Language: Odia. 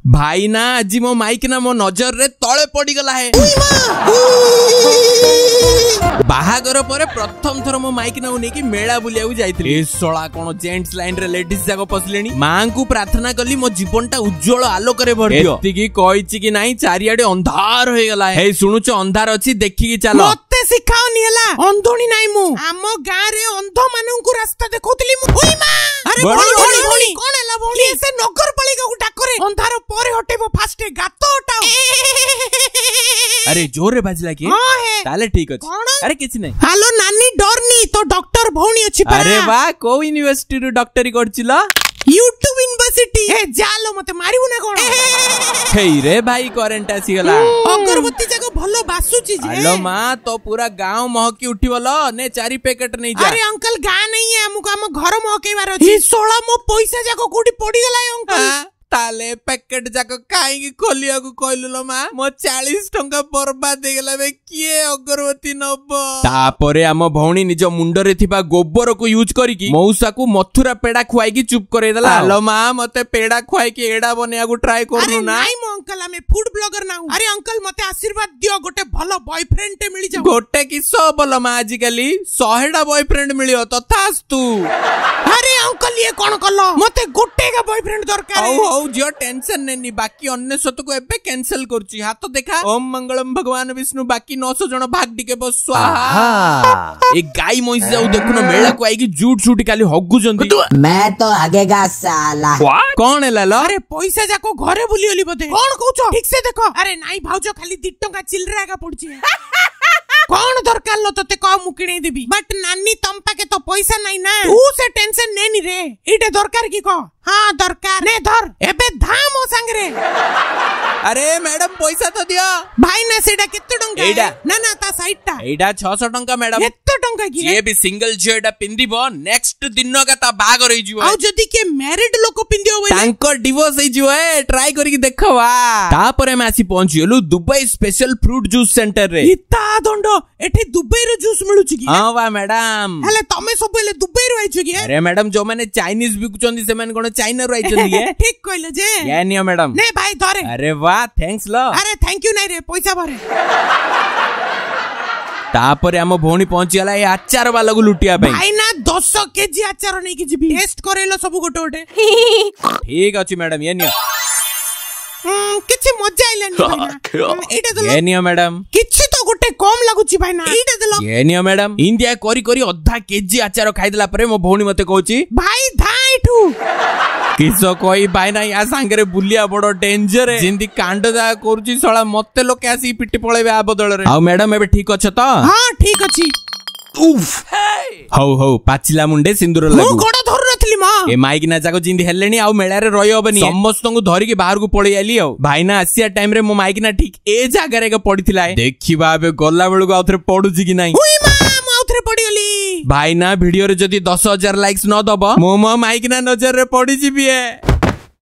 ଭାଇନା, ଆଜି ମୋ ମାଇକିନା ମୋ ନଜରରେ ତଳେ ପଡିଗଲା ହେ। ବାହାଘର ପରେ ପ୍ରଥମ ଥର ମୋ ମାଇକିନାକୁ ନେଇକି ମେଳା ବୁଲିବାକୁ ଯାଇଥିଲି। ଏ ଶଳା, କଣ ଜେଣ୍ଟସ ଲାଇନ ରେ ଲେଡିଜ ଯାକ ପଶିଲେଣି। ମାଙ୍କୁ ପ୍ରାର୍ଥନା କଲି, ମୋ ଜୀବନଟା ଉଜ୍ଜଳ ଆଲୋକରେ ଭରିଦିଅ। ଏତିକି କହିଛି କି ନାଇଁ, ଚାରିଆଡେ ଅନ୍ଧାର ହେଇଗଲା। ହେଇ ଶୁଣୁଛ, ଅନ୍ଧାର ଅଛି, ଦେଖିକି ଚାଲ। ମତେ ଶିଖାଅନି ହେଲା, ଅନ୍ଧୁଣୀ ନାଇଁ ମୁଁ। ଆମ ଗାଁରେ ଅନ୍ଧ ମାନଙ୍କୁ ରାସ୍ତା ଦେଖଉଥିଲି ମୁଁ। ଉଇ ମା! ଆରେ ଭଉଣୀ, ଭଉଣୀ, ଭଉଣୀ, ଭଉଣୀ, କଣ ହେଲା ଭଉଣୀ? କିଏ ସେ ନଗରପାଳିକାକୁ ଡାକରେ, ଅନ୍ଧାର ପରେ ହଟେଇବ, ଫାଷ୍ଟ ଗାତ ହଟାଅ। ଆରେ, ଜୋରରେ ବାଜିଲା କି? ହଁ ହେ। ତାହେଲେ ଠିକ ଅଛି। କଣ? ଆରେ କିଛି ନାହିଁ। ହ୍ୟାଲୋ ନାନୀ, ଡରନି, ତୋ ଡକ୍ଟର ଭଉଣୀ ଅଛି ପରା। ଆରେ ବା, କୋଉ ୟୁନିଭର୍ସିଟିରୁ ଡକ୍ଟରୀ କରୁଥିଲ? YouTube university. ଏ ଜାଲୋ, ମତେ ମାରିବୁ ନା କଣ? ହେଇ ରେ ଭାଇ, କରେଣ୍ଟ ଆସିଗଲା। ଅଗରବତୀ ଯାକ ଭଲ ବାସୁଛି ଯେ। ଆଲୋ ମା, ତୋ ପୁରା ଗାଁ ମହକି ଉଠିବ ଲ। ନେ, 4 ପ୍ୟାକେଟ ନେଇଯା। ଆରେ ଅଙ୍କଲ, ଗାଁ ନାହିଁ, ଆମକୁ ଆମ ଘର ମହକେଇବାର ଅଛି। ଶୋଳା, ମୋ ପଇସା ଯାକ କୋଉଠି ପଡିଗଲା ଏ ଅଙ୍କଲ। ତାହେଲେ ପ୍ୟାକେଟ ଯାକ କାହିଁକି ଖୋଲିବାକୁ କହିଲୁ ଲୋ ମା? ମୋ 40 ଟଙ୍କା ବର୍ବାଦ ହେଇଗଲା ବେ। କିଏ ଅଗରବତୀ ନବ? ତାପରେ ଆମ ଭଉଣୀ ନିଜ ମୁଣ୍ଡରେ ଥିବା ଗୋବରକୁ ୟୁଜ କରିକି ମଉସାକୁ ମଥୁରା ପେଡା ଖୁଆଇକି ଚୁପ୍ କରେଇଦେଲା। ଆଲୋ ମା, ମତେ ପେଡା ଖୁଆଇକି ଏଡା ବନେଇବାକୁ ଟ୍ରାଏ ଆରେ କରୁନୁ ନା? ନାଇଁ ମୋ ଅଙ୍କଲ, ଆମେ ଫୁଡ ବ୍ଲଗର ନାହୁଁ। ଆରେ ଅଙ୍କଲ, ମତେ ଆଶୀର୍ବାଦ ଦିଅ, ଗୋଟେ ଭଲ ବୟଫ୍ରେଣ୍ଡ ଟେ ମିଳିଯାଉ। ଗୋଟେ କିସ ବଲ ମା, ଆଜିକାଲି 100ଟା ବୟଫ୍ରେଣ୍ଡ ମିଳିବ, ତଥାସ୍ତୁ। ଆରେ ଅଙ୍କଲ, ଇଏ କଣ କଲ? ମତେ ଗୋଟେ ଏକା ବୟଫ୍ରେଣ୍ଡ ଦରକାର। ହଉ ହଉ ଝିଅ, ଟେନସନ ନେନି, ବାକି 99କୁ ଏବେ କ୍ୟାନସେଲ କରୁଛି। ହାତ ଦେଖା। ଓମ ମଙ୍ଗଳମ ଭଗବାନ ବିଷ୍ଣୁ, ବାକି 900 ଜଣ ଭାଗ ଟିକେ ବସ, ସ୍ୱାହା। ଏ ଗାଈ ମଇଁଷି ଯାଉ ଦେଖୁନ, ମେଳାକୁ ଆଇକି ଜୁଟ ସୁଟ ଖାଲି ହଗୁଛନ୍ତି। मैं तो हगेगा साला। କଣ ହେଲା ଲ? ଆରେ ପଇସା ଯାକ ଘରେ ଭୁଲିଗଲି ବୋଧେ। କଣ କହୁଛ, ଠିକ ସେ ଦେଖ। ଆରେ ନାଇଁ ଭାଉଜ, ଖାଲି 2 ଟଙ୍କା ଚିଲରା ଏକା ପଡୁଛି। କଣ ଦରକାର ଲୋ ତତେ କହ, ମୁଁ କିଣେଇ ଦେବି। ବଟ ନାନୀ, ତମ ପାଖେ ତ ପଇସା ନାଇଁ ନା। ତୁ ସେ ଟେନସନ ନେନି ରେ। ଏଇଟା ଦରକାର କି କହ? ହଁ ଦରକାର, ନେ ଧର, ଏବେ ଧା ମୋ ସାଙ୍ଗରେ। ଆରେ ମ୍ୟାଡମ, ପଇସା ତ ଦିଅ। ଭାଇ ନା, ସେଇଟା କେତେ ଟଙ୍କା? ଏଇଟା? ନା ନା, ତା ସାଇଡ ଟା। ଏଇଟା 600 ଟଙ୍କା ମ୍ୟାଡମ। ଏତେ ଟଙ୍କା କି? ଯିଏ ବି ସିଙ୍ଗଲ ଝିଅ ଏଇଟା ପିନ୍ଧିବ, ନେକ୍ସଟ ଦିନ କା ତା ବାହାଘର ହେଇଯିବ। ଆଉ ଯଦି କିଏ ମ୍ୟାରିଡ ଲୋକ ପିନ୍ଧିବ ବୋଇଲେ? ତାଙ୍କ ଡିଭୋର୍ସ ହେଇଯିବ। ଏ ଟ୍ରାଏ କରିକି ଦେଖ ବା। ତାପରେ ଆମେ ଆସି ପହଞ୍ଚିଗଲୁ ଦୁବାଇ ସ୍ପେଶାଲ ଫ୍ରୁଟ ଜୁସ୍ ସେଣ୍ଟରରେ। ଇତା ଦଣ୍ଡ, ଏଠି ଦୁବାଇର ଜୁସ୍ ମିଳୁଛି କି? ହଁ ବା ମ୍ୟାଡାମ। ହେଲେ ତମେ ସବୁବେଳେ ଦୁବାଇରୁ ଆଇଛ କି? ଆରେ ମ୍ୟାଡାମ, ଯୋଉମାନେ ଚାଇନିଜ ବିକୁଛନ୍ତି, ସେମାନେ କଣ ଚାଇନାରୁ ଆଇଛନ୍ତି କି? ଠିକ କହିଲ ଯେ। ଏ ନିଅ ମ୍ୟାଡାମ। ନେ ଭାଇ, ଧରେ। ଆରେ ବା, thanks ଲ। ଆରେ thank you ନାଇଁ ରେ, ପଇସା ଭରେ। ତାପରେ ଆମ ଭଉଣୀ ପହଞ୍ଚିଗଲା ଏ ଆଚାର ବାଲାକୁ ଲୁଟିବା ପାଇଁ। ଭାଇ ନା, 10 କେଜି ଆଚାର ନେଇକି ଯିବି, ଟେଷ୍ଟ କରେଇଲ ସବୁ ଗୋଟେ ଗୋଟେ। ଠିକ ଅଛି ମ୍ୟାଡାମ, ଇଏ ନିଅ। କିଛି ମଜା ଆଇଲାନି ଭାଇନା। ଏଇଟା ଦେଲ। ଇଏ ନିଅ ମ୍ୟାଡାମ। କିଛି ତ ଗୋଟେ କମ ଲାଗୁଛି ଭାଇନା, ଏଇଟା ଦେଲ। ଇଏ ନିଅ ମ୍ୟାଡାମ। ଇନ୍ଦିଆ କରି କରି ଅଧା କେଜି ଆଚାର ଖାଇଦେଲା ପରେ ମୋ ଭଉଣୀ ମତେ କହୁଛି, ଭାଇ ଧା ଏଠୁ। କିସ କହି ଭାଇନା, ୟା ସାଙ୍ଗରେ ବୁଲିବା ବଡ ଡେଞ୍ଜର। ଯେମିତି କାଣ୍ଡ ଯାହା କରୁଛି ଶଳା, ମତେ ଲୋକେ ଆସିକି ପିଟି ପଳେଇବେ ଆ ବଦଳରେ। ଆଉ ମ୍ୟାଡାମ, ଏବେ ଠିକ ଅଛ ତ? ହଁ, ଠିକ ଅଛି। ହଉ ହଉ, ପାଚିଲା ମୁଣ୍ଡେ ସିନ୍ଦୁର ମୁଁ ଲାଗୁ। ଗୋଡ ଧରୁନଥିଲି ମା। ଏ ମାଇକିନା ଯାକ ଯେମିତି ହେଲେଣି, ଆଉ ମେଳାରେ ରହିହବନି। ସମସ୍ତଙ୍କୁ ଧରିକି ବାହାରକୁ ପଳେଇ ଆଇଲି। ଆଉ ଭାଇନା, ଆସିବା ଟାଇମ ରେ ମୋ ମାଇକିନା ଠିକ ଏ ଜାଗାରେ ଏକ ପଡିଥିଲା। ଦେଖିବା ଏବେ ଗଲା ବେଳକୁ ଆଉଥରେ ପଡୁଛି କି ନାହିଁ। ଉଇ ମା, ମୁଁ ଆଉଥରେ ପଡିଗଲି। ଭାଇନା, ଭିଡିଓରେ ଯଦି 10,000 ଲାଇକ୍ସ ନ ଦବ, ମୁଁ ମୋ ମାଇକିନା ନଜରରେ ପଡିଯିବି ଏ।